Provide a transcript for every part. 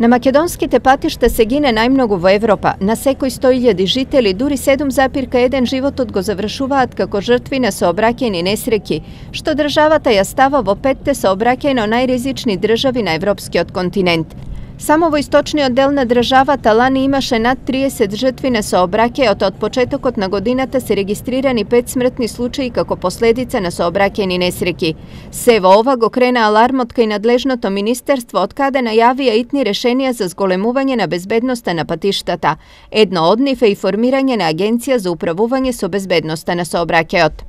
На македонските патишта се гине најмногу во Европа. На секој 100.000 жители, дури 7,1 животот го завршуваат како жртви на сообраќајни несреќи, што државата ја става во 5-те сообраќајно најризични држави на европскиот континент. Само во источниот дел на државата лани имаше над 30 жртви на сообраќајот, од почетокот на годината се регистрирани 5 смртни случаи како последица на сообраќајни несреќи. Се во ова го крена алармот кај надлежното министерство, од каде најавија итни решенија за зголемување на безбедноста на патиштата. Едно од нив е и формирање на агенција за управување со безбедноста на сообраќајот.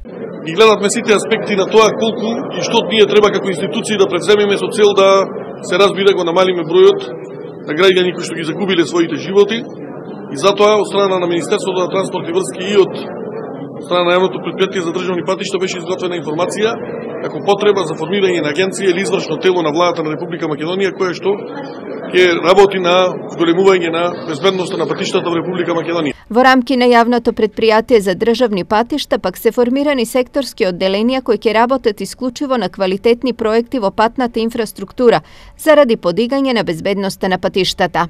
И гледавме сите аспекти на тоа колку и што ние треба како институции да превземеме со цел да се разбира го намалиме бројот на граѓани кои што ги загубиле своите животи, и затоа од страна на Министерството на транспорт и врски и од страна на јавното претпријатие за државни патишта беше изготвена информација како потреба за формирање на агенција или извршно тело на владата на Република Македонија која што ќе работи на зголемување на безбедноста на патиштата во Република Македонија. Во рамки на јавното претпријатие за државни патишта пак се формирани секторски одделенија кои ќе работат исклучиво на квалитетни проекти во патната инфраструктура заради подигање на безбедноста на патиштата.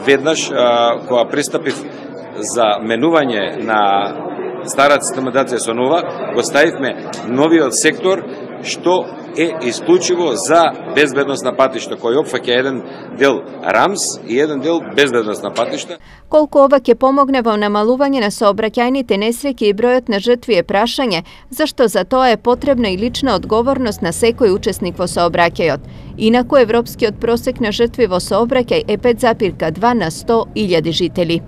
Веднаш кога пристапив за менување на старата систематизација со нова, го ставивме новиот сектор што е исклучиво за безбедност на патишта, кој опфаќа еден дел рамс и еден дел безбедност на патишта. Колку ова ќе помогне во намалување на сообраќајните несреќи и бројот на жртви е прашање, зашто за тоа е потребна и лична одговорност на секој учесник во сообраќајот. Инаку европскиот просек на жртви во сообраќај е 5,2 на 100.000 жители.